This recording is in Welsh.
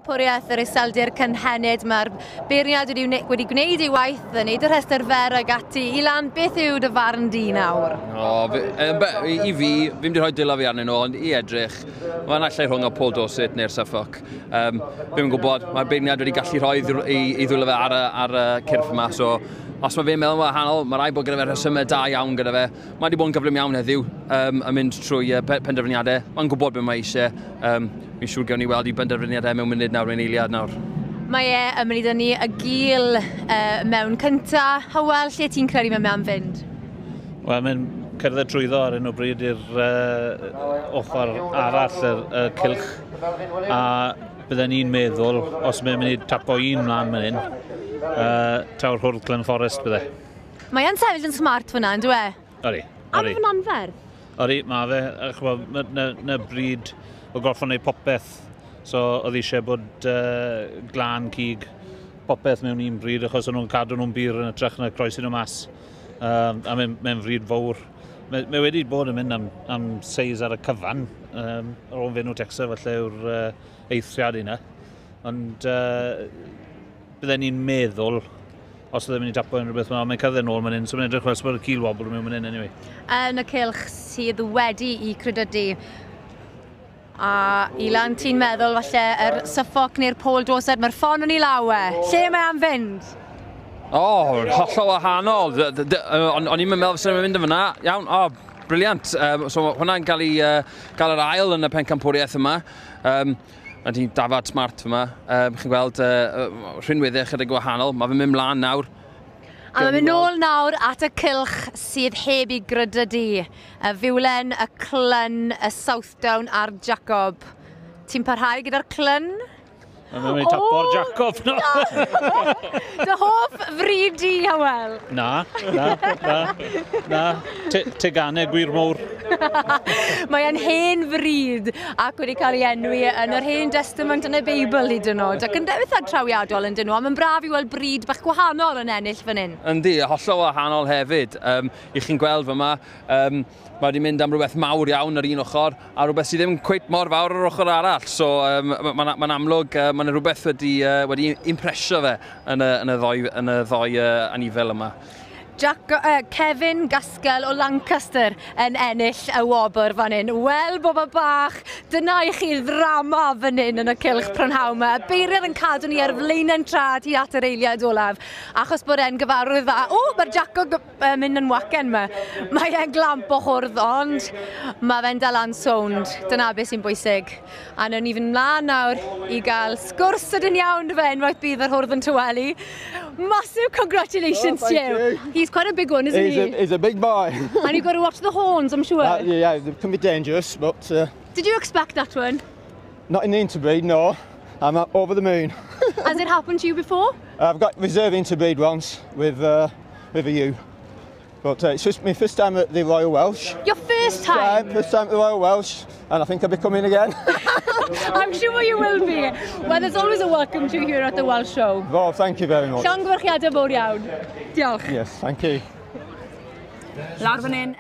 Pencampwriaeth yr Iseldir Cynhenid. Mae'r beirniad wedi gwneud ei waith, yn neud y rhestr fer ag ati. Ilan, beth yw dy farn di nawr? O, i fi, fi'n mynd i rhoi dwylo fi arnyn nhw, ond i edrych, mae'n allai rhwng o Paul Dorset neu'r Suffolk. Fi'n gwybod, mae'r beirniad wedi gallu rhoi ei ddwylo fe ar y cyrff yma, so os mae fe'n meddwl yn wahanol, mae rhaid bod gyda fe rhesymau da iawn gyda fe. Mae wedi bod yn gyflym iawn heddiw yn mynd trwy penderfyniadau. Mae'n gwybod beth mae eisiau. Fi'n siŵr gewn ni weld i benderfyniadau mewn munud nawr, mewn eiliad nawr. Mae e yn mynd i dynnu y gil mewn cynta. Hywel, lle ti'n credu mae am fynd? Wel, mae'n cerdded trwyddo ar hyn o bryd i'r ochr arall y cylch. A bydden ni'n meddwl, os mae'n mynd i tapo un mlaen fan hyn, taw'r hwrdd Clun Forest bydde. Mae e'n sefyll yn smart fyna, yn dwi? Ori. A mae fe'n anferth. Ori, mae fe. Ch'mo, na bryd o gorffod wneud popeth. So, oedd eisiau bod glân cig popeth mewn un bryd, achos o'n nhw'n cadw nhw'n bur yn hytrach na croesi nhw mas. A mae'n fryd fawr. Mae wedi bod yn mynd am seis ar y cyfan. Ar ôl Fenw Texas falle yw'r eithriad yna. Ond bydden ni'n meddwl, os ydym mynd i tapo unrhyw beth, mae'n cerdded nôl man hyn, so mae'n edrych fel bod y cil wobble mewn man hyn anyway. Yn y cylch sydd wedi i credydu. A Ilan, ti'n meddwl falle yr Suffolk neu'r Paul Dorset, mae'r ffon yn ei law e. Lle mae am fynd? O, oh, hollol wahanol. O'n i'n meddwl fysa nhw'n mynd yn fyna. Iawn, o, oh, brilliant. So hwnna'n cael yr ail yn y pencampwriaeth yma. Mae di dafad smart fyma. Chi'n gweld rhinweddau chydig gwahanol. Mae fe'n mynd mlaen nawr. A mae'n mynd nôl nawr at y cylch sydd heb i grydydu. Y Fiwlen, y Clun, y Southdown a'r Jacob. Ti'n parhau gyda'r Clun? Mae'n mynd i tapo'r Jacob, no. Dy hoff fryd di, Hywel? Na, na, na, na. Teganau gwir mowr. Mae e'n hen fryd ac wedi cael ei enwi yn yr Hen Testament yn y Beibl hyd yn oed. Ac yn eitha trawiadol yn dyn nhw, ond mae'n braf i weld bryd bach gwahanol yn ennill fan hyn. Yndi, hollol wahanol hefyd. I chi'n gweld fyma, mae wedi mynd am rhywbeth mawr iawn ar un ochr, a rhywbeth sydd ddim cweit mor fawr ar ochr arall. So mae'n amlwg, mae'n rhywbeth wedi impresio fe yn y ddoi anifel yma. Kevin Gaskell o Lancaster yn ennill y wobr fan hyn. Wel, bobl bach, dyna i chi ddrama fan hyn yn y cylch prynhawn yma. Y beirniad yn cadw ni ar flaenau'n trad i at yr eiliad olaf, achos bod e'n gyfarwydd dda. O, mae'r Jaco mynd yn wacen yma. Mae e'n glamp o hwrdd, ond mae fe'n dal an sownd. Dyna beth sy'n bwysig. A newn ni fynd mlaen nawr i gael sgwrs sydyn iawn fe unwaith bydd yr hwrdd yn tawelu. Massive congratulations Oh, to thank you. you. He's quite a big one, isn't He's he? a, he's a big boy. And you've got to watch the horns, I'm sure. Yeah, they can be dangerous, but Did you expect that one? Not in the interbreed, no. I'm over the moon. Has it happened to you before? I've got reserve interbreed once with a ewe. But it's just my first time at the Royal Welsh. Your first time? First time at the Royal Welsh, and I think I'll be coming again. I'm sure you will be. Well, there's always a welcome to you here at the Welsh Show. Well, thank you very much. Llongyfarchiadau mawr iawn. Diolch. Yes, thank you. Lawr fan hyn.